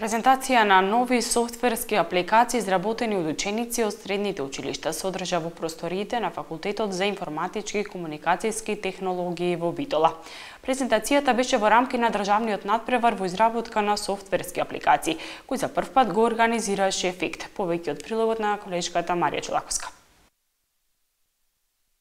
Презентација на нови софтверски апликации изработени од ученици од средните училишта се одржа во просториите на Факултетот за информатички и комуникацијски технологии во Битола. Презентацијата беше во рамки на државниот надпревар во изработка на софтверски апликации, кој за прв пат го организираше ефект. Повеќе од прилогот на колешката Марија Чолаковска.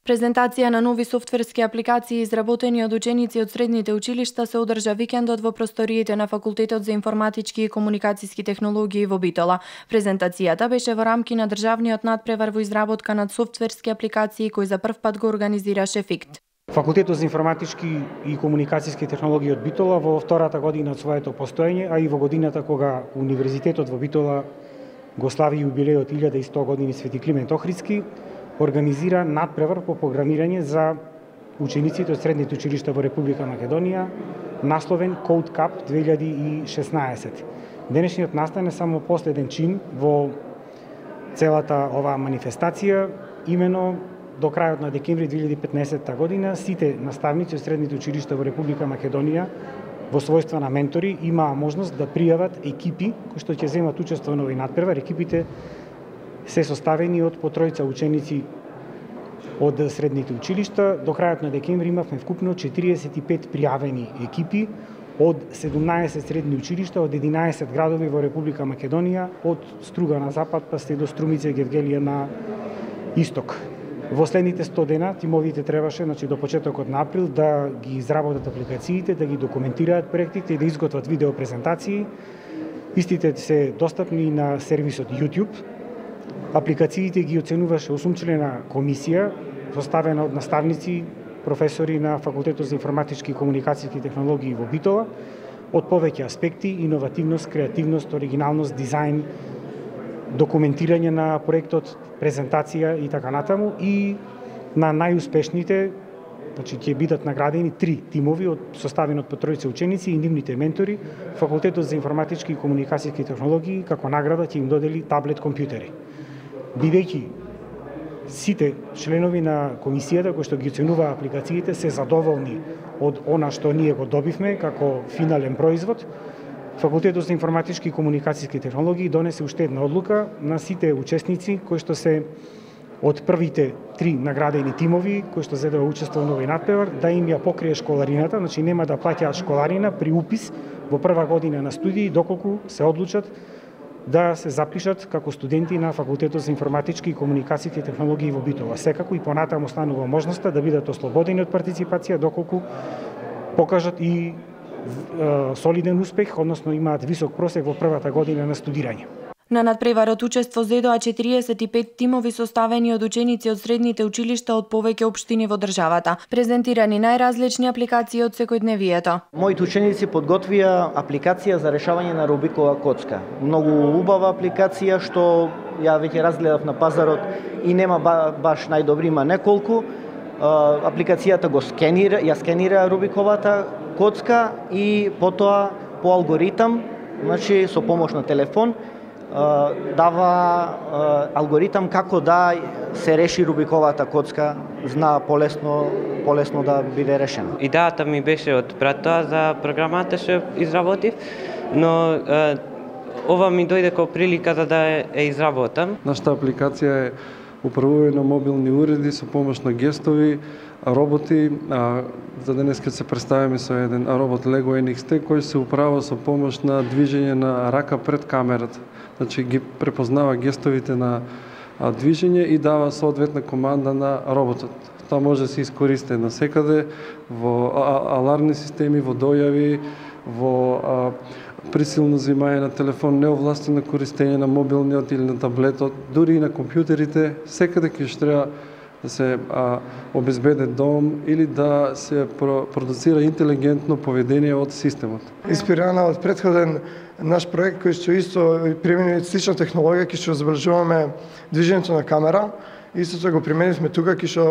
Презентација на нови софтверски апликации изработени од ученици од средните училишта се одржа викендот во просториите на Факултетот за информатички и комуникацијски технологии во Битола. Презентацијата беше во рамки на државниот надпревар во изработка на софтверски апликации кој за прв пат го организираше ефект. Факултетот за информатички и комуникацијски технологии од Битола во втората година од своето постоење, а и во годината кога Универзитетот во Битола го слави јубилејот 1100 години Свети Климент Охридски, организира надпревар по програмирање за учениците од средните училишта во Република Македонија, насловен Code Cup 2016. Денешниот настан е само последен чин во целата оваа манифестација, имено до крајот на декември 2015 година сите наставници од средните училишта во Република Македонија во својства на ментори имаа можност да пријават екипи кои што ќе земат учество во овој надпревар. Екипите се составени од по тројца ученици од средните училишта. До крајот на декември имавме вкупно 45 пријавени екипи од 17 средни училишта од 11 градови во Република Македонија, од Струга на запад па се до Струмица и Гевгелија на исток. Во следните 100 дена тимовите требаше, до почетокот на април, да ги изработат апликациите, да ги документираат проектите и да изготват видео презентации. Истите се достапни на сервисот YouTube. Апликациите ги оценуваше 8-члена комисија, составена од наставници, професори на Факултетот за информатички и комуникацијски технологии во Битола, од повеќе аспекти: иновативност, креативност, оригиналност, дизајн, документирање на проектот, презентација и така натаму. И на најуспешните, ќе бидат наградени 3 тимови составени од по тројца ученици и нивните ментори. Факултетот за информатички и комуникацијски технологии како награда ќе им додели таблет компјутери. Бидејќи сите членови на комисијата кои што ги оценуваа апликациите се задоволни од она што ние го добивме како финален производ, Факултетот за информатички и комуникацијски технологии донесе уште една одлука на сите учесници кои што се од првите 3 наградени тимови кои што зедоа учество во овој надпревар, да им ја покрие школарината, нема да плаќаат школарина при упис во прва година на студии доколку се одлучат да се запишат како студенти на Факултетот за информатички и комуникацијски технологии во Битола. Секако и понатаму останува можноста да бидат ослободени од партиципација доколку покажат и солиден успех, односно имаат висок просек во првата година на студирање. На надпреварот учество зедоа 45 тимови составени од ученици од средните училишта од повеќе општини во државата. Презентирани најразлични апликации од секојдневието. Моите ученици подготвија апликација за решавање на Рубикова коцка. Многу убава апликација што ја веќе разгледав на пазарот и нема баш најдобри, има неколку. Апликацијата ја скенира Рубиковата коцка и потоа по алгоритам, со помош на телефон, дава алгоритам како да се реши Рубиковата коцка, зна полесно да биде решена. Идејата ми беше од пред тоа за програмата што изработив, но ова ми дојде како прилика за да ја изработам. Нашата апликација е управување на мобилни уреди со помош на гестови, роботи. За денес ќе се представиме со еден робот Lego NXT кој се управува со помош на движење на рака пред камерата. Ги препознава гестовите на движење и дава соодветна команда на роботот. Тоа може да се искористи насекаде, во алармни системи, во дојави, во присилно взимање на телефон, неовластено користење на мобилниот или на таблетот, дури и на компјутерите, секаде ќе треба да се обезбеде дом или да се продуцира интелигентно поведение од системот. Инспирирана од претходен наш проект кој што исто применува слична технологија, ќе што забележуваме движењето на камера, истото го применивме тука, ќе што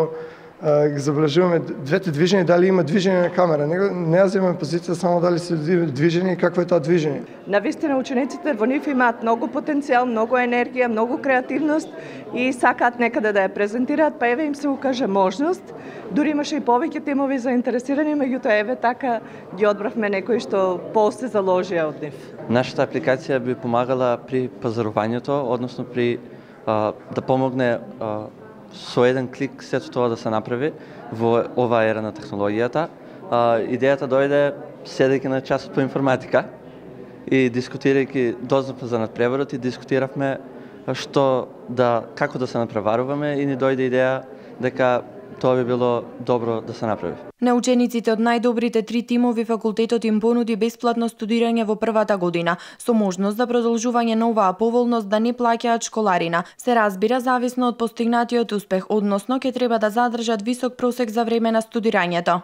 ги забележуваме двете движења, дали има движење на камера. Не ја земаме позиција само дали се движење и какво е тоа движење. Навистина учениците во нив имаат многу потенцијал, многу енергија, многу креативност и сакаат некаде да ја презентираат, па еве им се укаже можност. Дури имаше и повеќе тимови заинтересирани, меѓутоа еве така ги одбравме некои што после заложија од нив. Нашата апликација би помагала при пазарувањето, односно при да помогне со еден клик сето тоа да се направи во оваа ера на технологијата. Идејата дојде седејќи на часот по информатика и дискутирајќи, дознавме за надпреварот и дискутиравме како да се надпреваруваме и ни дојде идеја дека тоа би било добро да се направи. На учениците од најдобрите 3 тимови факултетот им понуди бесплатно студирање во првата година, со можност за продолжување на оваа поволност да не плаќаат школарина. Се разбира зависно од постигнатиот успех, односно ќе треба да задржат висок просек за време на студирањето.